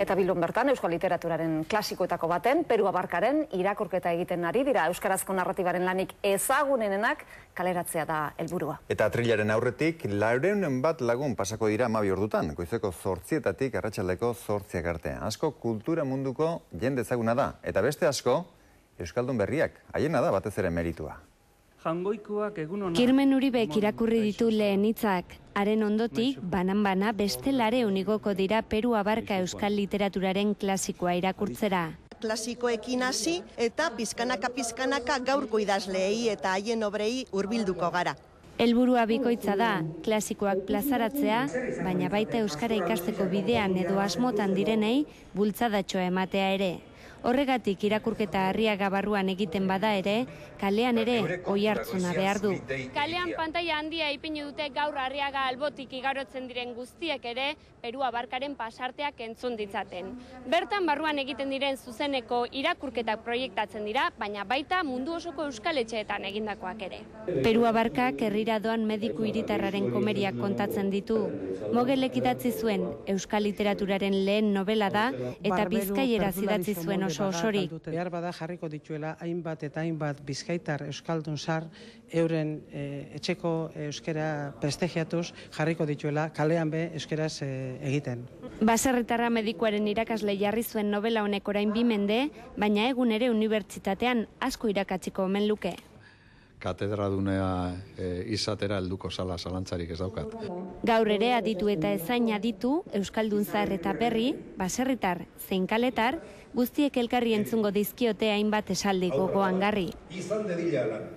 Eta Bilbon bertan, euskal literaturaren klasikoetako baten, Peru Abarkaren irakurketa egiten ari dira. Euskarazko narratibaren lanik ezagunenenak kaleratzea da helburua. Eta atrilaren aurretik, 400 bat lagun pasako dira 12 ordutan, goizeko 8:00 arratsaldeko 8:00 arte. Asko kultura munduko jende ezaguna da, eta beste asko, euskaldun berriak, haiena da batez ere meritua. Kirmen Uribek irakurri ditu lehen hitzak. Haren ondotik, banan-bana beste 400 igoko dira Peru Abarka euskal literaturaren klasikoa irakurtzera. Klasikoekin hasi eta pizkanaka gaurko idazleei eta haien obrei hurbilduko gara. Helburua bikoitza da, klasikoak plazaratzea, baina baita euskara ikasteko bidean edo asmotan direnei bultzadatxoa ematea ere. Horregatik irakurketa Arriaga barruan egiten bada ere, kalean ere oihartzuna behar du. Kalean pantaila handia ipini dute gaur Arriaga albotik igarotzen diren guztiek ere, Peru Abarkaren pasarteak entzun ditzaten. Bertan barruan egiten diren zuzeneko irakurketak proiektatzen dira, baina baita mundu osoko euskaletxeetan egindakoak ere. Peru Abarkak herrira doan mediku hiritarraren komeriak kontatzen ditu. Mogelek idatzi zuen euskal literaturaren lehen novela da, eta bizkaieraz idatzi zuen oso osorik. Behar bada jarriko dituela hainbat eta hainbat bizkaitar euskaldun zar euren etxeko euskera prestigiatuz jarriko dituela kalean be euskeraz egiten. Baserritarra medikuaren irakasle jarri zuen novela honek orain 2 mende, baina egun ere unibertsitatean asko irakatsiko omen luke. Katedradunea izatera helduko zala zalantzarik ez daukat. Gaur ere aditu eta ezain aditu, euskaldun zahar eta berri, baserritar, zein kaletar, guztiek elkarri entzungo dizkiote hainbat esaldi gogoan garri. Izan dedila lan.